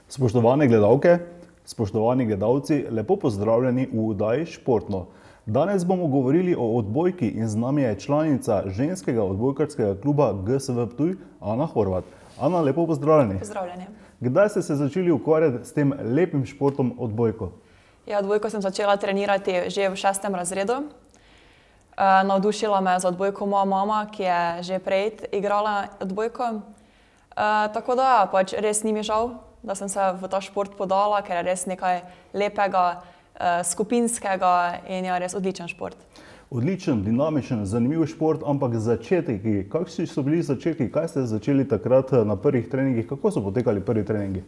Spoštovane gledalke, spoštovani gledalci, lepo pozdravljeni v oddaji Športno. Danes bomo govorili o odbojki in z nami je članica ženskega odbojkarskega kluba GSV Ptuj, Ana Horvat. Ana, lepo pozdravljeni. Pozdravljeni. Kdaj ste se začeli ukvarjati s tem lepim športom odbojko? Ja, odbojko sem začela trenirati že v 6. razredu. Navdušila me za odbojko moja mama, ki je že prej igrala odbojko. Tako da, pač res ni mi žal, da sem se v ta šport podala, ker je res nekaj lepega, skupinskega in je res odličen šport. Odličen, dinamičen, zanimiv šport, ampak začetki. Kakšni so bili začetki? Kaj ste začeli takrat na prvih treningih? Kako so potekali prvi treningi?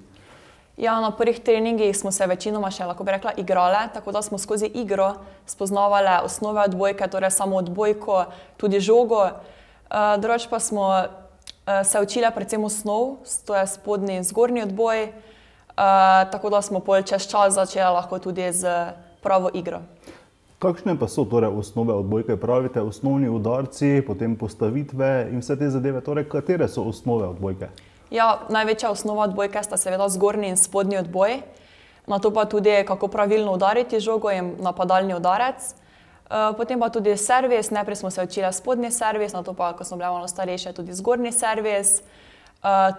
Ja, na prvih treningih smo se večinoma še, lahko bi rekla, igrale, tako da smo skozi igro spoznavali osnove odbojke, torej samo odbojko, tudi žogo. Drugače pa smo se učili predvsem osnov, to je spodnji in zgornji odboj, tako da smo pol čez čas začeli lahko tudi z pravo igro. Kakšne pa so torej osnove odbojke? Pravite osnovni udarci, potem postavitve in vse te zadeve, torej katere so osnove odbojke? Ja, največja osnova odbojke sta seveda zgornji in spodnji odboj, nato pa tudi kako pravilno udariti žogo in napadalni udarec. Potem pa tudi servis, najprej smo se učili spodnji servis, nato pa, ko smo bili malo starejši, tudi zgornji servis.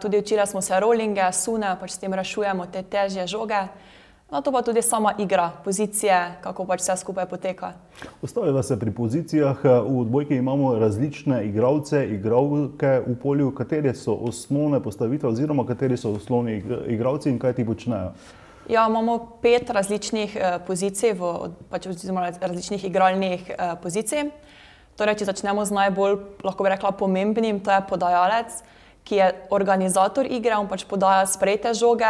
Tudi učili smo se rollinge, sune, pač s tem rešujemo te težje žoge. Nato pa tudi sama igra, pozicije, kako pač vse skupaj poteka. Ustaviva se pri pozicijah. V odbojki imamo različne igralce, igralke v polju. Katere so osnovne postavitve oziroma kateri so osnovni igralci in kaj ti počnejo? Ja, imamo 5 različnih pozicij, oziroma različnih igralnih pozicij. Torej, če začnemo z najbolj, lahko bi rekla, pomembnim, to je podajalec, ki je organizator igre, on pač podaja sprejete žoge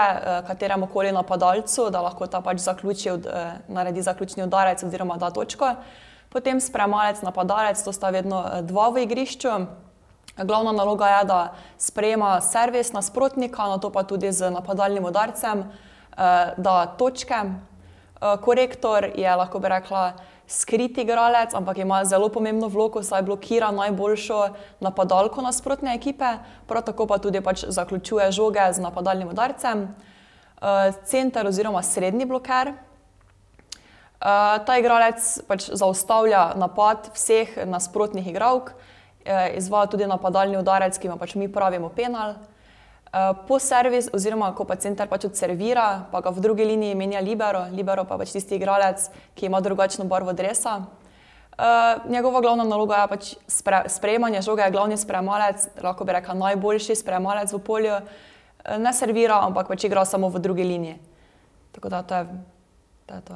kateremu koli napadalcu, da lahko ta pač naredi zaključni udarec oziroma da točko. Potem sprejemalec, napadalec, to sta vedno dva v igrišču. Glavna naloga je, da sprejema servis nasprotnika, nato pa tudi z napadalnim udarcem da točke. Korektor je, lahko bi rekla, skrit igralec, ampak ima zelo pomembno vlogo, saj blokira najboljšo napadalko nasprotne ekipe, prav tako pa tudi pač zaključuje žoge z napadalnim udarcem. Center oziroma srednji bloker. Ta igralec pač zaustavlja napad vseh nasprotnih igralk, izvaja tudi napadalni udarec, ki mu pač mi pravimo penal. Po servis, oziroma ko pa center pač odservira, pa ga v drugi liniji menja libero. Libero pa pač tisti igralec, ki ima drugačno barvo dresa. Njegova glavna naloga je pač sprejemanje žoge, je glavni sprejemalec, lahko bi rekla najboljši sprejemalec v polju. Ne servira, ampak pač igra samo v drugi liniji. Tako da to je to.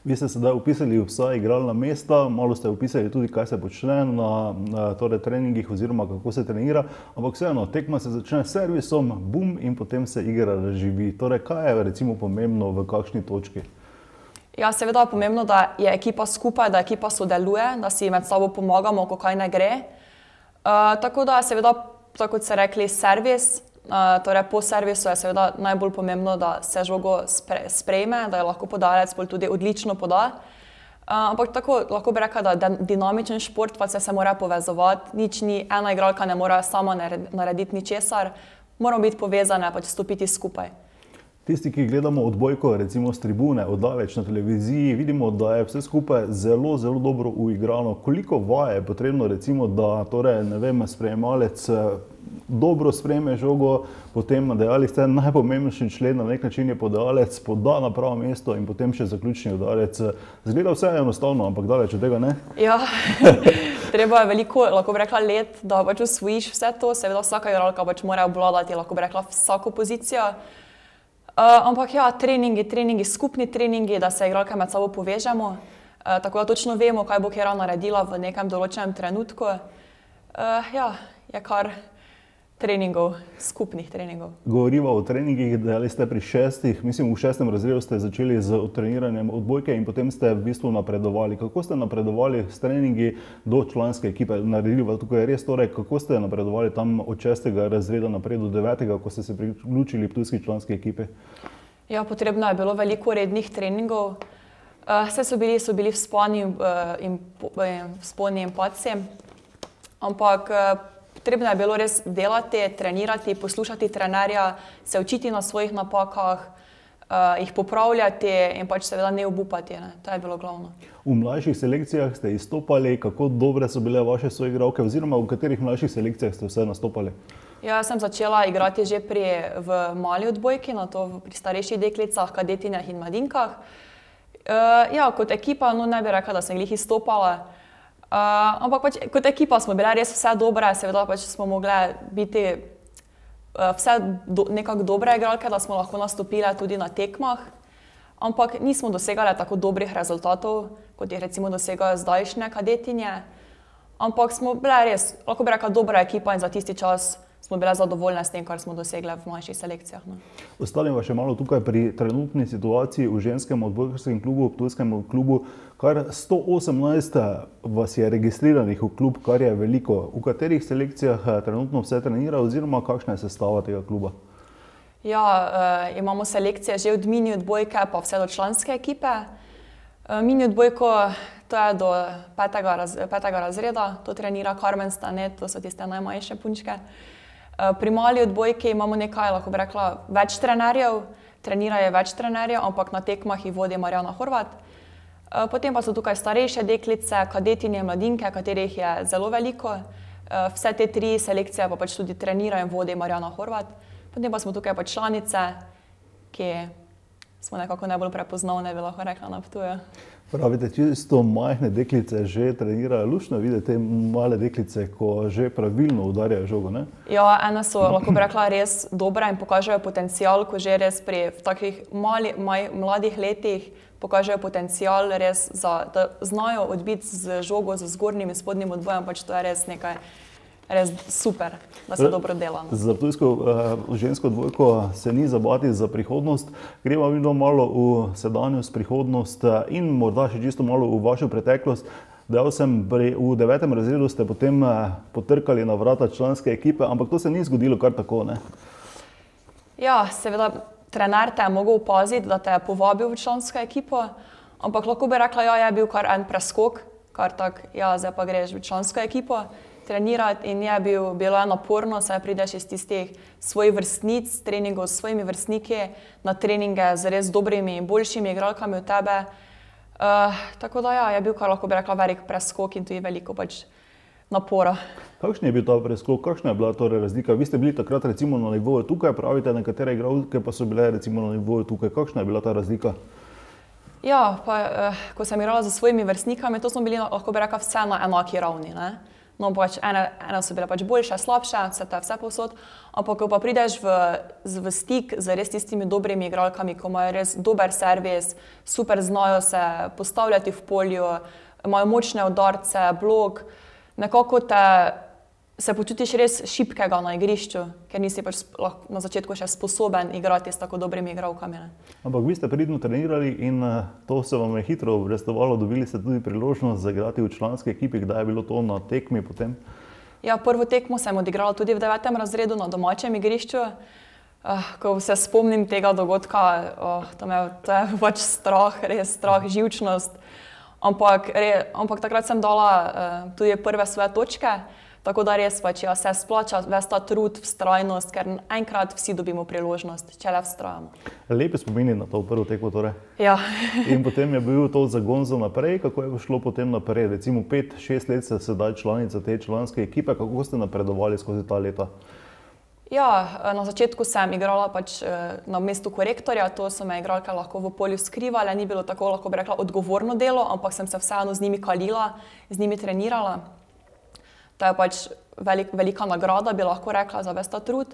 Vi ste sedaj opisali vsa igralna mesta, malo ste opisali tudi, kaj se počne na treningih oziroma kako se trenira, ampak vseeno, tekma se začne s servisom, bum, in potem se igra razživi. Torej, kaj je recimo pomembno v kakšni točki? Ja, seveda je pomembno, da je ekipa skupaj, da ekipa sodeluje, da si med sabo pomagamo, ko kaj ne gre. Tako da seveda, tako kot ste rekli, servis. Torej, po servisu je seveda najbolj pomembno, da se žogo sprejme, da jo lahko podajalec tudi odlično poda. Ampak tako lahko bi rekla, da je dinamičen šport, pa se mora povezovati. Nič ni, ena igralka ne more sama narediti ničesar, moramo biti povezane, pač stopiti skupaj. Tisti, ki gledamo odbojko, recimo s tribune, oddaleč na televiziji, vidimo, da je vse skupaj zelo, zelo dobro uigrano. Koliko vaj je potrebno, recimo, da torej, ne vem, sprejemalec dobro sprejme žogo, potem dejali ste najpomembnejši člen, na nek način je podajalec, poda na pravo mesto in potem še zaključni udarec. Zgleda vse enostavno, ampak daleč od tega ne? Ja, treba je veliko, lahko bi rekla, let, da pač osvojiš vse to. Seveda vsaka igralka pač mora obvladati, lahko bi rekla, vsako pozicijo. Ampak ja, treningi, skupni treningi, da se igralke med sabo povežemo, tako da točno vemo, kaj bo katera naredila v nekem določenem trenutku. Ja, je kar treningov, skupnih treningov. Govoriva o treningih, dejali ste pri 6. razredu ste začeli z treniranjem odbojke in potem ste v bistvu napredovali. Kako ste napredovali s treningi do članske ekipe? Naredili tukaj res torej, kako ste napredovali tam od 6. razreda naprej do 9., ko ste se priključili ptujski članski ekipi? Ja, potrebno je bilo veliko rednih treningov. Vse so bili vzponi in padci, ampak Potrebno je bilo res delati, trenirati, poslušati trenerja, se učiti na svojih napakah, jih popravljati in pač seveda ne obupati. Ne. To je bilo glavno. V mlajših selekcijah ste izstopali, kako dobre so bile vaše soigralke oziroma v katerih mlajših selekcijah ste vse nastopali? Ja, sem začela igrati že v mali odbojki, nato pri starejših deklicah, kadetinjah in mladinkah. Ja, kot ekipa, no ne bi rekla, da sem glih izstopala, ampak pač kot ekipa smo bile res vse dobre, seveda pač smo mogle biti vse nekako dobre igralke, da smo lahko nastopile tudi na tekmah, ampak nismo dosegale tako dobrih rezultatov, kot jih recimo dosegajo zdajšnje kadetinje, ampak smo bile res, lahko bi rekla, dobra ekipa in za tisti čas smo bile zadovoljne s tem, kar smo dosegle v mlajših selekcijah. No. Ostanem še malo tukaj pri trenutni situaciji v ženskem odbojkarskem klubu, v ptujskem klubu. Kar 118 vas je registriranih v klub, kar je veliko. V katerih selekcijah trenutno vse trenira oziroma kakšna je sestava tega kluba? Ja, imamo selekcije že od mini odbojke pa vse do članske ekipe. Mini odbojko, to je do 5. razreda, to trenira Carmen Stane, to so tiste najmanjše punčke. Pri mali odbojki imamo nekaj, lahko bi rekla, več trenerjev, trenirajo več trenerjev, ampak na tekmah jih vodi Marjana Horvat. Potem pa so tukaj starejše deklice, kadetinje, mladinke, katerih je zelo veliko. Vse te 3 selekcije pa pač tudi trenirajo in vodi Marjana Horvat. Potem pa smo tukaj pa članice, ki smo nekako najbolj prepoznavne, bi lahko rekla, na Ptuju. Pravite, čisto majhne deklice že trenirajo, luštno videti te male deklice, ko že pravilno udarjajo žogo, ne? Ja, ene so, lahko bi rekla, res dobre in pokažejo potencial, ko že res pri takih mladih letih pokažejo potencial res, da znajo odbiti z žogo, z zgornjim in spodnjim odbojem, pač to je res nekaj res super, da se dobro dela. Za ptujsko žensko odbojko se ni zabati za prihodnost. Gremo vidno malo v sedanjost, prihodnost in morda še čisto malo v vašo preteklost. Dejal sem, v 9. razredu ste potem potrkali na vrata članske ekipe, ampak to se ni zgodilo kar tako, ne? Ja, seveda, trener te je mogel opaziti, da te je povabil v člansko ekipo, ampak lahko bi rekla, ja, je bil kar en preskok, kar tak, ja, zdaj pa greš v člansko ekipo trenirati in je bilo naporno, saj prideš iz tistih svojih vrstnic, treningov s svojimi vrstniki, na treninge z res dobrimi in boljšimi igralkami od tebe. Tako da ja, je bil kar, lahko bi rekla, velik preskok in tudi veliko pač napora. Kakšen je bil ta preskok, kakšna je bila torej razlika? Vi ste bili takrat recimo na nivoju tukaj, pravite, nekatere igralke pa so bile recimo na nivoju tukaj. Kakšna je bila ta razlika? Ja, pa ko sem igrala z svojimi vrstnikami, to smo bili, lahko bi rekla, vse na enaki ravni, ne? No, pač ene so bile pač boljše, slabše, vse povsod, ampak ko pa prideš v stik z res tistimi dobrimi igralkami, ko imajo res dober servis, super znajo se postavljati v polju, imajo močne udarce, blok, nekako se počutiš res šibkega na igrišču, ker nisi pač na začetku še sposoben igrati s tako dobrimi igralkami. Ne. Ampak vi ste pridno trenirali in to se vam je hitro obrestovalo, dobili ste tudi priložnost zaigrati v članski ekipi, kdaj je bilo to na tekmi potem? Ja, prvo tekmo sem odigrala tudi v 9. razredu na domačem igrišču. Ko se spomnim tega dogodka, to je pač strah, res strah, živčnost. Ampak takrat sem dala tudi prve svoje točke, tako da res pač ja, se splača ves ta trud, vztrajnost, ker enkrat vsi dobimo priložnost, če le vztrajamo. Lepi spomini na to prvo tekmo torej. Ja. In potem je bil to zagon za naprej, kako je šlo potem naprej? Recimo 5-6 let ste sedaj članica te članske ekipe, kako ste napredovali skozi ta leta? Ja, na začetku sem igrala pač na mestu korektorja, to so me igralke lahko v polju skrivale, ni bilo tako, lahko bi rekla, odgovorno delo, ampak sem se vseeno z njimi kalila, z njimi trenirala. To je pač velika nagrada, bi lahko rekla, za ves ta trud.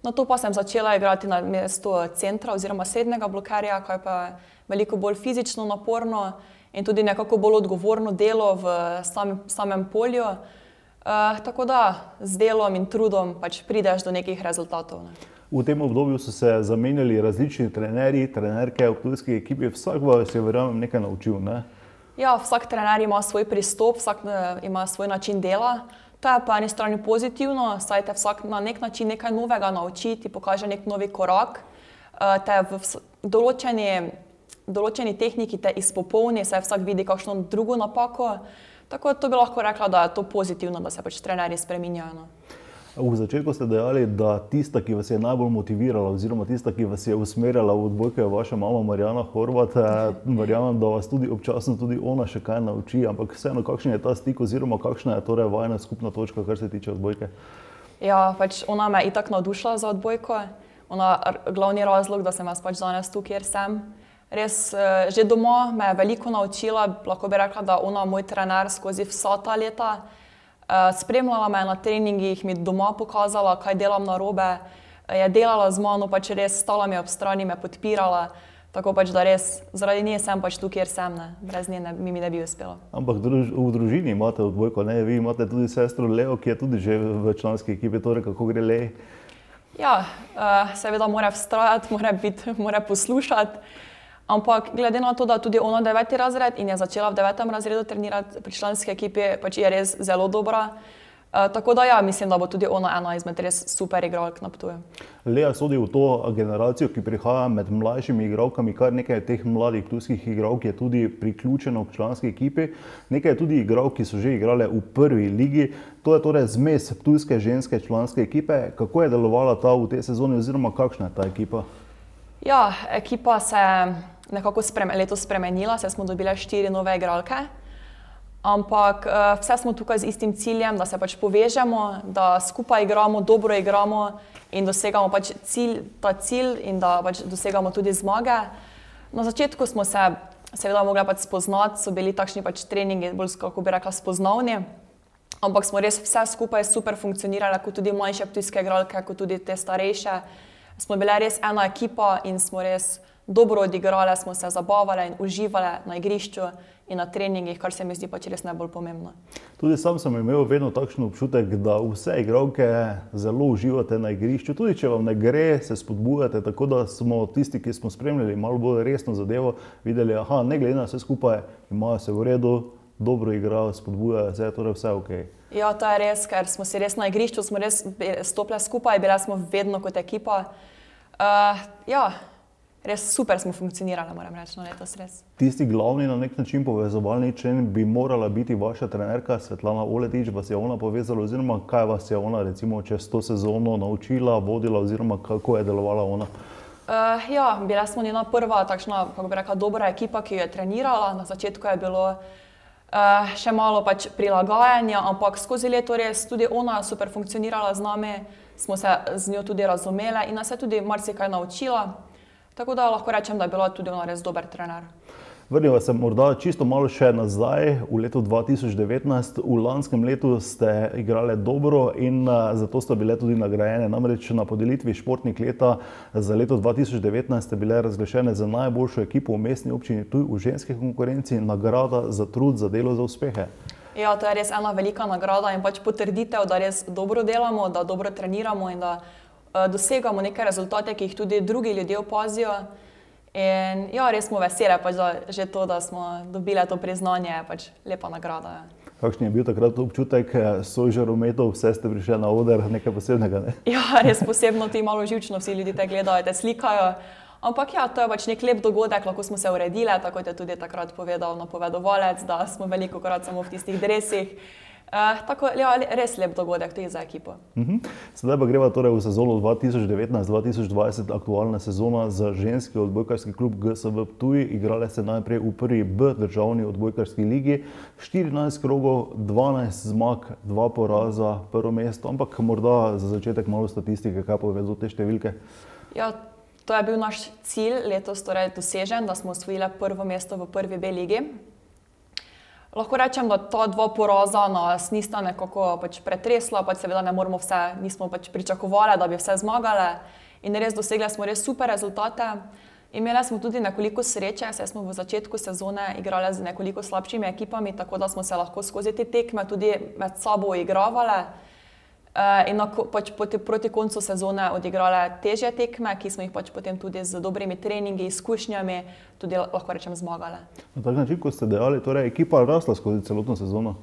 Nato pa sem začela igrati na mestu centra oziroma srednjega blokerja, kar pa je veliko bolj fizično naporno in tudi nekako bolj odgovorno delo v samem polju. Tako da z delom in trudom pač prideš do nekih rezultatov. Ne. V tem obdobju so se zamenjali različni trenerji, trenerke v ptujski ekipi, vsak vas je verjamem nekaj naučil, ne? Ja, vsak trener ima svoj pristop, vsak ima svoj način dela. To je po eni strani pozitivno, saj te vsak na nek način nekaj novega nauči, ti pokaže nek novi korak, te v določeni tehniki te izpopolni, saj vsak vidi kakšno drugo napako. Tako to bi lahko rekla, da je to pozitivno, da se pač trenerji spreminjajo. V začetku ste dejali, da tista, ki vas je najbolj motivirala oziroma tista, ki vas je usmerjala v odbojko, je vaša mama Marjana Horvat. Verjamem, da vas tudi občasno tudi ona še kaj nauči, ampak vseeno, kakšen je ta stik oziroma kakšna je torej vajina skupna točka, kar se tiče odbojke? Ja, pač ona me je itak navdušila za odbojko. Ona glavni razlog, da sem jaz pač danes tu, kjer sem. Res, že doma me je veliko naučila, lahko bi rekla, da ona moj trener skozi vsa ta leta. Spremljala me na treningih, mi doma pokazala, kaj delam narobe, je delala z mano, pač res stala mi ob strani, me podpirala, tako pač da res zaradi nje sem pač tu, kjer sem, ne. Brez nje mi ne bi uspelo. Ampak v družini imate odbojko, ne? Vi imate tudi sestro Leo, ki je tudi že v članski ekipi, torej kako gre Leji? Ja, seveda mora vztrajati, mora poslušati. Ampak glede na to, da tudi ona 9. razred in je začela v 9. razredu trenirati pri članski ekipi, pač je res zelo dobra. Tako da ja, mislim, da bo tudi ona ena izmed res super igralk na Ptuju. Lea sodi v to generacijo, ki prihaja med mlajšimi igralkami, kar nekaj teh mladih ptujskih igralk je tudi priključeno k članski ekipi. Nekaj je tudi igralk, ki so že igrale v prvi ligi. To je torej zmes ptujske ženske članske ekipe. Kako je delovala ta v tej sezoni oziroma kakšna je ta ekipa? Ja, ekipa se je nekako letos spremenila, saj smo dobili 4 nove igralke. Ampak vse smo tukaj z istim ciljem, da se pač povežemo, da skupaj igramo, dobro igramo in dosegamo pač ta cilj in da pač dosegamo tudi zmage. Na začetku smo se seveda mogli pač spoznati, so bili takšni pač treningi, bolj, kako bi rekla, spoznavni. Ampak smo res vse skupaj super funkcionirali, kot tudi mlajše ptujske igralke, kot tudi te starejše. Smo bile res ena ekipa in smo res dobro odigrali, smo se zabavali in uživali na igrišču in na treningih, kar se mi zdi pač res najbolj pomembno. Tudi sam sem imel vedno takšen občutek, da vse igralke zelo uživate na igrišču. Tudi če vam ne gre, se spodbujate, tako da smo tisti, ki smo spremljali malo bolj resno zadevo, videli, aha, ne glede na vse skupaj, imajo se v redu, dobro igrajo, spodbujajo se, torej vse ok. Ja, to je res, ker smo si res na igrišču, smo res stopili skupaj, bile smo vedno kot ekipa. Ja, res super smo funkcionirali, moram reči, no letos res. Tisti glavni na nek način povezovalni člen bi morala biti vaša trenerka Svetlana Oletič, vas je ona povezala oziroma kaj vas je ona recimo čez to sezono naučila, vodila oziroma kako je delovala ona? Ja, bila smo njena prva takšna, kako bi rekla, dobra ekipa, ki jo je trenirala. Na začetku je bilo še malo pač prilagajanja, ampak skozi leto res tudi ona super funkcionirala z nami, smo se z njo tudi razumeli in nas je tudi marsikaj naučila. Tako da lahko rečem, da je bila tudi ona res dober trener. Vrniva se morda čisto malo še nazaj, v letu 2019. V lanskem letu ste igrali dobro in zato ste bile tudi nagrajene. Namreč na podelitvi Športnik leta za leto 2019 ste bile razglašene za najboljšo ekipo v mestni občini Ptuj v ženski konkurenci, nagrada za trud, za delo, za uspehe. Ja, to je res ena velika nagrada in pač potrditev, da res dobro delamo, da dobro treniramo in da dosegamo neke rezultate, ki jih tudi drugi ljudje opazijo. In ja, res smo vesele, pač že to, da smo dobile to priznanje, je pač lepa nagrada. Ja. Kakšen je bil takrat občutek, sožarometov, vse ste prišli na oder, nekaj posebnega, ne? Ja, res posebno, ti malo živčno, vsi ljudi te gledajo, te slikajo. Ampak ja, to je pač nek lep dogodek, lahko smo se uredile, tako je tudi takrat povedal napovedovalec, da smo velikokrat samo v tistih dresih. Tako, ja, res lep dogodek tudi za ekipo. Sedaj pa greva torej v sezono 2019-2020, aktualna sezona za ženski odbojkarski klub GSV Ptuj. Igrale ste najprej v prvi B državni odbojkarski ligi, 14 krogov, 12 zmag, 2 poraza, prvo mesto, ampak morda za začetek malo statistike, kaj povedo te številke? Ja, to je bil naš cilj letos torej dosežen, da smo osvojile prvo mesto v prvi B ligi. Lahko rečem, da ta 2 poraza nas nista nekako pač pretresla, pač seveda ne moramo vse, nismo pač pričakovali, da bi vse zmagale in res dosegli smo res super rezultate. Imeli smo tudi nekoliko sreče, saj smo v začetku sezone igrali z nekoliko slabšimi ekipami, tako da smo se lahko skozi te tekme tudi med sabo igravali. In pač proti koncu sezone odigrale težje tekme, ki smo jih pač potem tudi z dobrimi treningi, izkušnjami tudi lahko rečem zmagale. Na tak način, kot ste dejali, torej ekipa rasla skozi celotno sezono?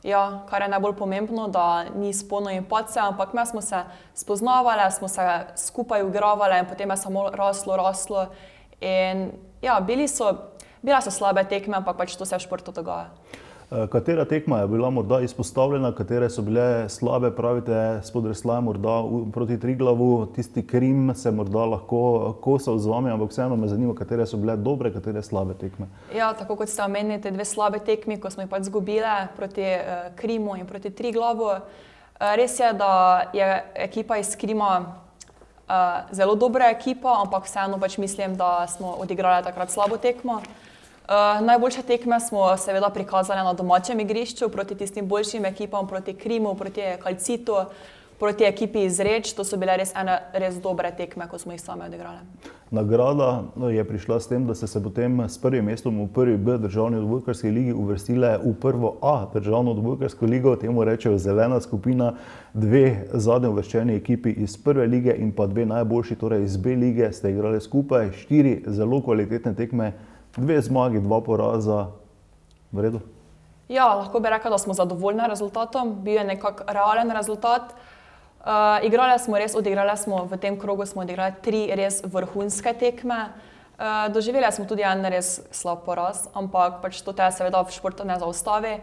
Ja, kar je najbolj pomembno, da ni vzponov in padcev, ampak mi smo se spoznavali, smo se skupaj igravali in potem je samo raslo. In ja, bile so slabe tekme, ampak pač to se v športu dogaja. Katera tekma je bila morda izpostavljena, katere so bile slabe, pravite, Spodrsljaj morda proti Triglavu, tisti Krim se morda lahko kosal z vami, ampak vseeno me zanima, katere so bile dobre, katere slabe tekme. Ja, tako kot ste omenili, te dve slabe tekmi, ko smo jih pač izgubile proti Krimu in proti Triglavu. Res je, da je ekipa iz Krima zelo dobra ekipa, ampak vseeno pač mislim, da smo odigrali takrat slabo tekmo. Najboljše tekme smo seveda prikazali na domačem igrišču proti tistim boljšim ekipam, proti Krimu, proti Calcitu, proti ekipi iz Reč. To so bile res dobre tekme, ko smo jih same odigrali. Nagrada je prišla s tem, da ste se potem s prvim mestom v prvi B državni odbojkarski ligi uvrstile v prvo A državno odbojkarsko ligo, temu rečejo zelena skupina, dve zadnje uvrščeni ekipi iz prve lige in pa dve najboljši, torej iz B lige, ste igrali skupaj, 4 zelo kvalitetne tekme, 2 zmagi, 2 poraza. V redu? Ja, lahko bi rekla, da smo zadovoljni rezultatom. Bil je nekak realen rezultat. Odigrali smo v tem krogu smo odigrali 3 res vrhunske tekme. Doživeli smo tudi en res slab poraz, ampak pač to te seveda v športu ne zaustavi.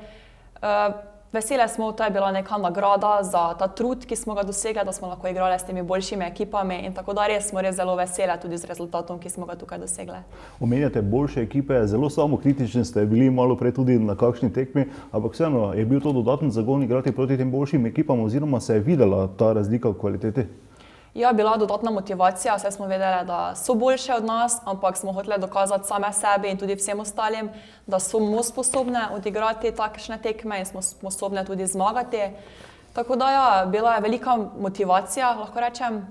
Veseli smo, to je bila neka nagrada za ta trud, ki smo ga dosegli, da smo lahko igrali s temi boljšimi ekipami in tako da res smo res zelo veseli tudi z rezultatom, ki smo ga tukaj dosegli. Omenjate boljše ekipe, zelo samokritični ste bili malo prej tudi na kakšni tekmi, ampak vseeno je bil to dodaten zagon igrati proti tem boljšim ekipam oziroma se je videla ta razlika v kvaliteti? Ja, bila dodatna motivacija, saj smo vedeli, da so boljše od nas, ampak smo hoteli dokazati same sebi in tudi vsem ostalim, da smo sposobne odigrati takšne tekme in smo sposobne tudi zmagati. Tako da ja, bila je velika motivacija, lahko rečem,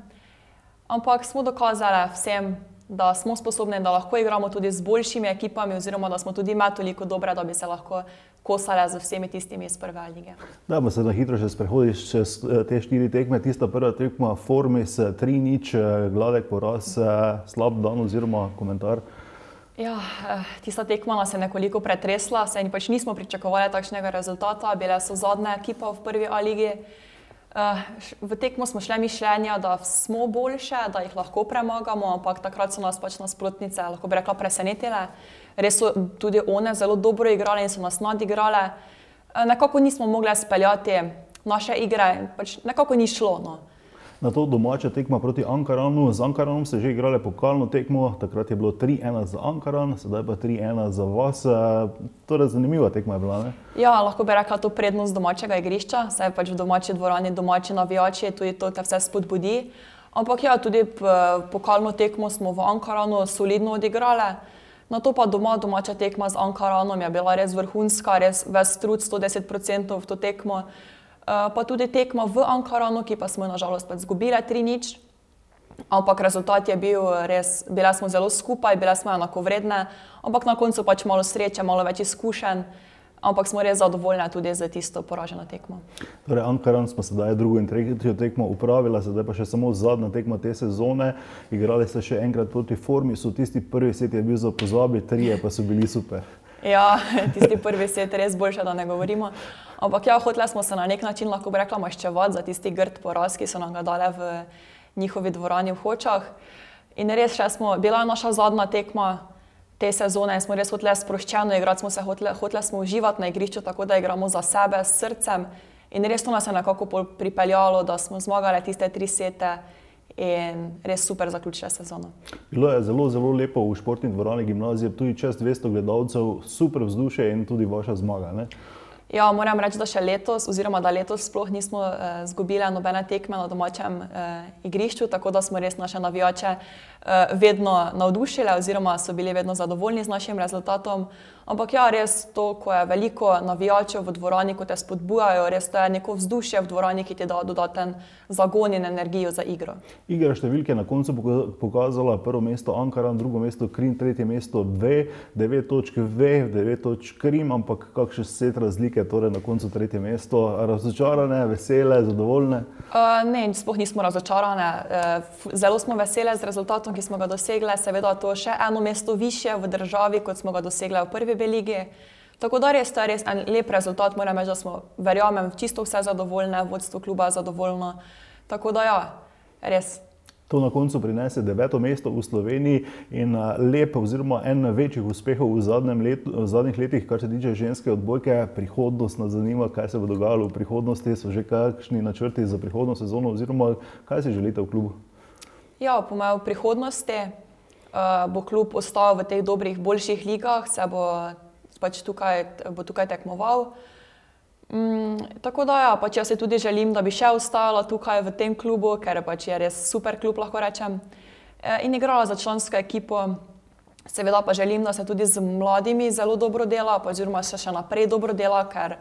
ampak smo dokazali vsem, da smo sposobni, da lahko igramo tudi z boljšimi ekipami oziroma da smo tudi imeli toliko dobre, da bi se lahko kosali z vsemi tistimi iz prve lige. Dajmo se na hitro še sprehodiš čez te 4 tekme. Tista prva tekma Formis 3-0, gladek poraz, slab dan oziroma komentar. Ja, tista tekma nas je nekoliko pretresla, saj pač nismo pričakovali takšnega rezultata, bile so zadnja ekipa v prvi A ligi. V tekmo smo šli mišljenja, da smo boljše, da jih lahko premagamo, ampak takrat so nas pač nasprotnice, lahko bi rekla, presenetile. Res so tudi one zelo dobro igrale in so nas nadigrale. Nekako nismo mogli speljati naše igre, pač nekako ni šlo. No. Na to domača tekma proti Ankaranu. Z Ankaranom ste že igrali pokalno tekmo, takrat je bilo 3-1 za Ankaran, sedaj pa 3-1 za vas. Torej zanimiva tekma je bila, ne? Ja, lahko bi rekla to prednost domačega igrišča, saj pač v domači dvorani, domači navijači, tudi to te vse spodbudi. Ampak ja, tudi pokalno tekmo smo v Ankaranu solidno odigrali. Na to pa domača tekma z Ankaranom je bila res vrhunska, res ves trud, 110% v to tekmo. Pa tudi tekma v Ankaranu, ki pa smo jo nažalost pač izgubili 3-0. Ampak rezultat je bil res, bile smo zelo skupaj, bile smo enakovredne, ampak na koncu pač malo sreče, malo več izkušenj, ampak smo res zadovoljni tudi za tisto poraženo tekmo. Torej, Ankaran smo sedaj drugo in tretjo tekmo upravila, sedaj pa še samo zadnja tekma te sezone. Igrali ste še enkrat proti Formisu, tisti prvi set je bil za pozabi, 3 pa so bili super. Ja, tisti prvi set res boljše, da ne govorimo. Ampak ja, hoteli smo se na nek način, lahko bi rekla, maščevati za tisti grd poraz, ki so nam ga dali v njihovi dvorani v Hočah. In res bila je naša zadnja tekma te sezone in smo res hoteli sproščeno igrati, hoteli smo uživati na igrišču, tako da igramo za sebe, s srcem. In res to nas je nekako pripeljalo, da smo zmagali tiste 3 sete in res super zaključili sezono. Bilo je zelo, zelo lepo v športni dvorani gimnazije, tudi čez 200 gledalcev, super vzdušje in tudi vaša zmaga, ne? Ja, moram reči, da še letos, oziroma da letos sploh nismo izgubili nobene tekme na domačem igrišču, tako da smo res naše navijače vedno navdušili oziroma so bili vedno zadovoljni z našim rezultatom. Ampak ja, res to, ko je veliko navijačev v dvorani, ko te spodbujajo, res to je neko vzdušje v dvorani, ki ti da dodaten zagon in energijo za igro. Igra številke na koncu pokazala prvo mesto Ankaran, drugo mesto Krim, tretje mesto 2, 9 točk 2, 9 točk Krim, ampak kakšen set razlike, torej na koncu tretje mesto. Razočarane, vesele, zadovoljne? Ne, sploh nismo razočarane. Zelo smo vesele z rezultatom, ki smo ga dosegli. Seveda to še eno mesto višje v državi, kot smo ga dosegli v prvi B ligi. Tako da res to je res en lep rezultat, moram reči, da smo, verjamem, čisto vse zadovoljne, vodstvo kluba je zadovoljno. Tako da ja, res To na koncu prinese 9. mesto v Sloveniji in lep oziroma en večjih uspehov v zadnjih letih, kar se tiče ženske odbojke. Prihodnost nas zanima, kaj se bo dogajalo v prihodnosti, so že kakšni načrti za prihodno sezono oziroma kaj si želite v klubu? Ja, po mojem v prihodnosti bo klub ostal v teh dobrih, boljših ligah, se bo pač tukaj tekmoval. Tako da ja, pač jaz si tudi želim, da bi še ostala tukaj v tem klubu, ker pač je res super klub, lahko rečem, in igrala za člansko ekipo. Seveda pa želim, da se tudi z mladimi zelo dobro dela, pa oziroma se še naprej dobro dela, ker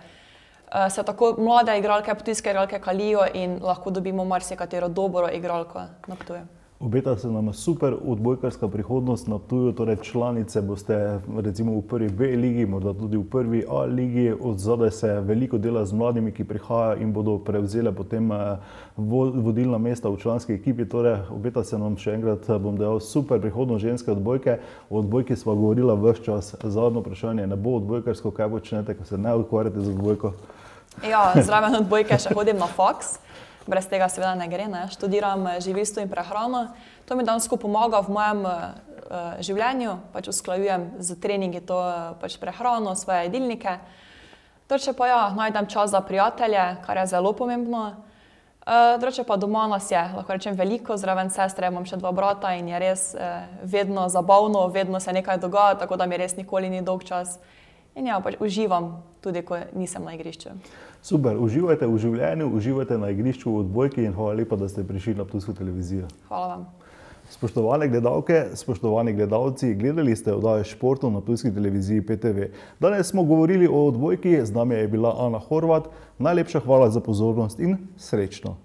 se tako mlade igralke, ptujske igralke kalijo in lahko dobimo marsikatero dobro igralko na Ptuju. Obeta se nam super odbojkarska prihodnost na Ptuju, torej članice boste recimo v prvi B ligi, morda tudi v prvi A ligi. Od zadaj se veliko dela z mladimi, ki prihajajo in bodo prevzele potem vodilna mesta v članski ekipi. Torej, obeta se nam še enkrat, bom dejal, super prihodnost ženske odbojke. O odbojki sva govorila ves čas. Zadnje vprašanje, ne bo odbojkarsko, kaj počnete, ko se ne ukvarjate z odbojko? Ja, zraven odbojke še hodim na faks. Brez tega seveda ne gre, ne. Študiram živilstvo in prehrano. To mi dejansko pomaga v mojem življenju, pač usklajujem z treningi to pač prehrano, svoje jedilnike. Drugače pa ja, najdem čas za prijatelje, kar je zelo pomembno. Drugače pa doma nas je, lahko rečem, veliko, zraven sestre imam še 2 brata in je res vedno zabavno, vedno se nekaj dogaja, tako da mi res nikoli ni dolg čas. In ja, pač uživam tudi, ko nisem na igrišču. Super, uživajte v življenju, uživajte na igrišču v odbojki in hvala lepa, da ste prišli na Ptujsko televizijo. Hvala vam. Spoštovane gledalke, spoštovani gledalci, gledali ste oddajo Športov na Ptujski televiziji PTV. Danes smo govorili o odbojki, z nami je bila Ana Horvat. Najlepša hvala za pozornost in srečno!